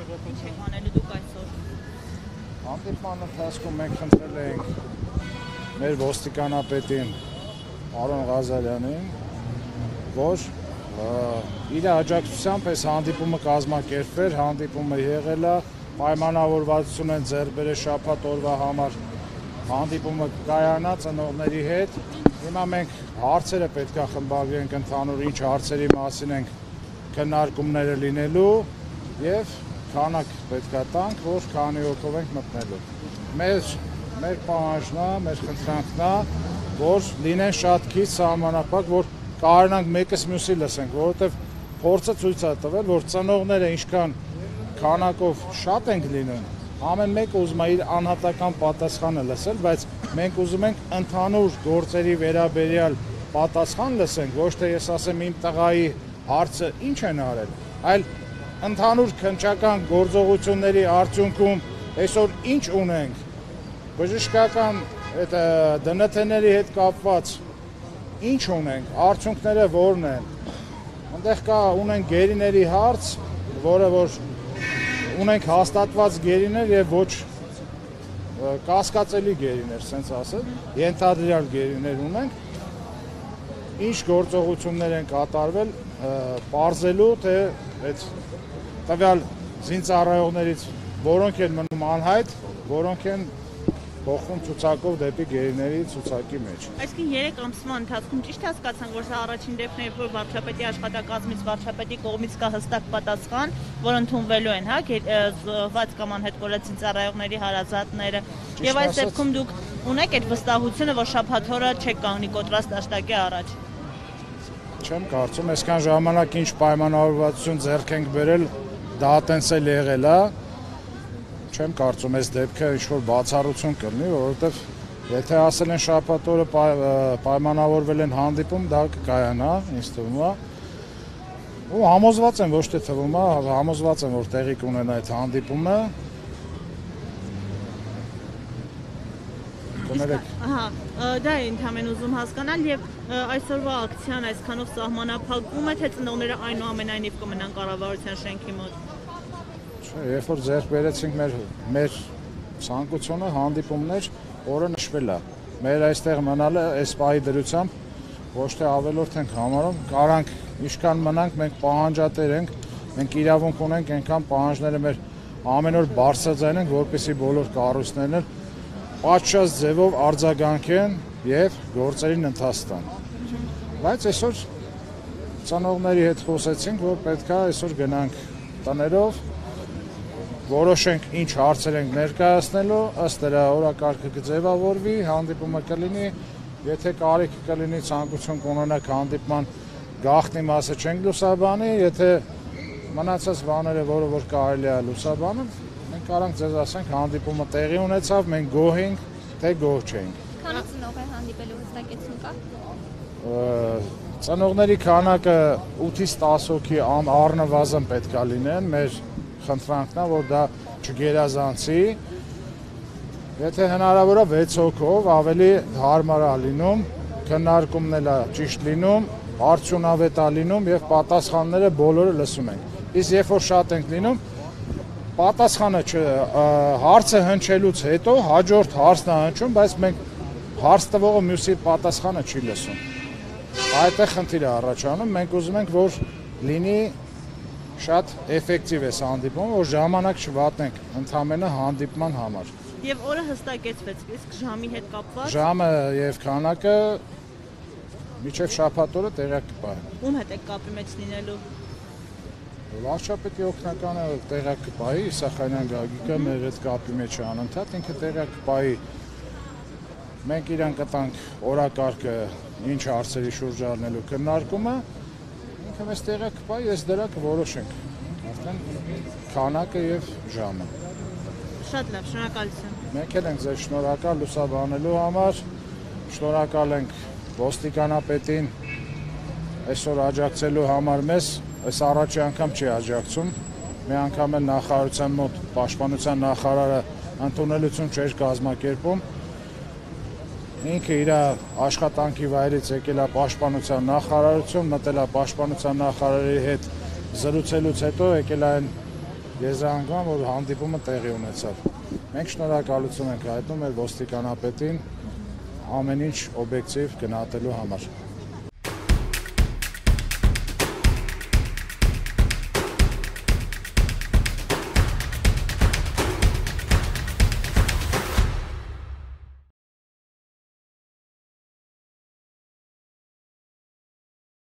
Ինչ եք անելու դուք այսօր։ Հանդիպման ընթացքում մենք խնդրել էինք մեր ոստիկանապետին Արոն Ղազարյանին, որ իր աջակցությամբ այս հանդիպումը կազմակերպվեր, հանդիպումը եղել է, պայմանավորվածություն են ձեռք բերել շաբաթ օրվա համար, հանդիպումը կայանա ծնողների հետ։ Հիմա մենք հարցերը պետք է խմբագրենք ընդհանուր ինչ հարցերի մասին ենք քննարկումները լինելու եւ քանակ պետք է տանք, որ քանի հոգով ենք մտնելու։ Մեր պահանջն է, մեր խնդրանքն է, որ լինեն շատ քիչ սահմանափակ, որ կարողանանք մեկս մյուսի լսենք, որովհետեւ փորձը ցույց է տվել, որ ծնողները ինչքան քանակով շատ ենք լինում, ամեն մեկը ուզում է իր անհատական պատասխանը լսել, բայց մենք ուզում ենք ընդհանուր գործերի վերաբերյալ պատասխան լսենք, ոչ թե ես ասեմ իմ տղայի հարցը ինչ են արել, այլ ընդհանուր քննչական գործողությունների արդյունքում այսօր ինչ ունենք, բժշկական ԴՆԹ-ների հետ կապված ինչ ունենք, արդյունքները որն են, այնտեղ կա ունենք գերիների հարց, որը որ ունենք հաստատված գերիներ եւ ոչ կասկածելի գերիներ, ասենց ասել, ենթադրյալ գերիներ ունենք, ինչ գործողություններ են կատարվել, պարզելու թե այդ տվյալ զինծառայողներից որոնք են մնում անհայտ, որոնք են փոխվում ցուցակով դեպի գերիների ցուցակի մեջ։ Այսինքն 3 ամսվա ընթացքում ճիշտ հասկացանք, որ սա առաջին դեպքն է, որ վարչապետի աշխատակազմից վարչապետի կողմից կա հստակ պատասխան, որ ընդունվելու են, հա, զոհված կամ անհետ կորած զինծառայողների հարազատները։ Եվ այս դեպքում դուք ունեք այդ վստահությունը, որ շաբաթ օրը չեք կանգնի կոտրած դաշտակի առաջ։ Չեմ կարծում, այսքան ժամանակ ինչ պայմանավորվածություն ձեռք ենք բերել, դա տենց էլ եղել է։ Չեմ կարծում այս դեպքը ինչ-որ բացառություն կլինի, որովհետև եթե ասել են շաբաթ օրը պայմանավորվել են հանդիպում, դա կկայանա, ինձ թվում է։ Ու համոզված եմ, ոչ թե թվում է, համոզված եմ, որ տեղի կունենա այդ հանդիպումը։ Ահա, դա է ընդհանրեն ուզում հասկանալ եւ այսօրվա ակցիան այսքանով սահմանափակվում է, թե ծնողները այնուամենայնիվ կմնան կառավարության շենքի մոտ։ Երբ որ ձեռք բերեցինք մեր ցանկությունը հանդիպումներ, օրը նշվել է։ Մեր այստեղ մնալը այս պահի դրությամբ ոչ թե ավելորդ ենք համարում, կարանք ինչքան մնանք, մենք պահանջատեր ենք, մենք իրավունք ունենք այնքան պահանջները մեր ամեն օր բարձրաձայնենք, որպեսզի բոլոր կառույցներն պատշաճ ձևով արձագանքեն եւ գործերին ընթաց տան։ Բայց այսօր ծնողների հետ խոսեցինք, որ պետք է այսօր գնանք տներով, որոշենք ինչ հարցեր ենք ներկայացնելու, ըստ դրա օրակարգը կձևավորվի, հանդիպումը կլինի, եթե կարիք կլինի ցանկություն կունենաք հանդիպման գաղտնի մասը չենք լուսաբանի, եթե մնացած բաները, որը որ կարելի է լուսաբանել, մենք կարանք ձեզ ասենք հանդիպումը տեղի ունեցավ, մենք գոհ ենք, թե գոհ չենք։ Քանի ծնող է հանդիպելու հստակեցում կա։ Ծնողների քանակը 8-ից 10 հոգի առնվազն պետք է լինեն, մեր խնդրանքն է, որ դա չգերազանցի։ Եթե հնարավոր է 6 հոգով ավելի հարմար է լինում, քննարկումն էլ է ճիշտ լինում, արդյունավետ է լինում եւ պատասխանները բոլորը լսում ենք։ Իսկ երբ որ շատ ենք լինում, պատասխանը հարցը հնչելուց հետո հաջորդ հարցն է հնչում, բայց մենք հարց տվողը մյուսի պատասխանը չի լսում։ Այդտեղ խնդիր է առաջանում, մենք ուզում ենք, որ լինի շատ էֆեկտիվ է հանդիպումը, որ ժամանակ չվատնենք ընդամենը հանդիպման համար։ Եվ օրը հստակեցվեց, իսկ ժամի հետ կապված։ Ժամը եւ քանակը մինչեւ շաբաթ օրը տեղյակ կպահեն։ Ում հետ եք կապի մեջ լինելու։ Վարչապետի օգնականը տեղյակ կպահի, Իսախանյան Գագիկը մեր հետ կապի մեջ է անընդհատ, ինքը տեղյակ կպահի։ Մենք իրան կտանք օրակարգը, ինչ հարցերի շուրջ առնելու քննարկումը, ինքը մեզ տեղյակ կպահի, ես դրա կորոշենք։ Արդեն քանակը եւ ժամը։ Շատ լավ, շնորհակալություն։ Մենք էլ ենք ձեզ շնորհակալ լուսաբանելու համար, շնորհակալ ենք ոստիկանապետին այսօր աջակցելու համար մեզ, այս առաջի անգամ չի աջակցում, մի անգամ էլ նախարարության մոտ պաշտպանության նախարարը ընդունելություն չէր կազմակերպում, ինքը իր աշխատանքի վայրից եկել է պաշտպանության նախարարություն, մտել է պաշտպանության նախարարի հետ զրուցելուց հետո եկել այն եզրահանգման, որ հանդիպումը տեղի ունեցավ։ Մենք շնորհակալություն ենք հայտնում մեր ոստիկանապետին ամեն ինչ օբյեկտիվ գնահատելու համար։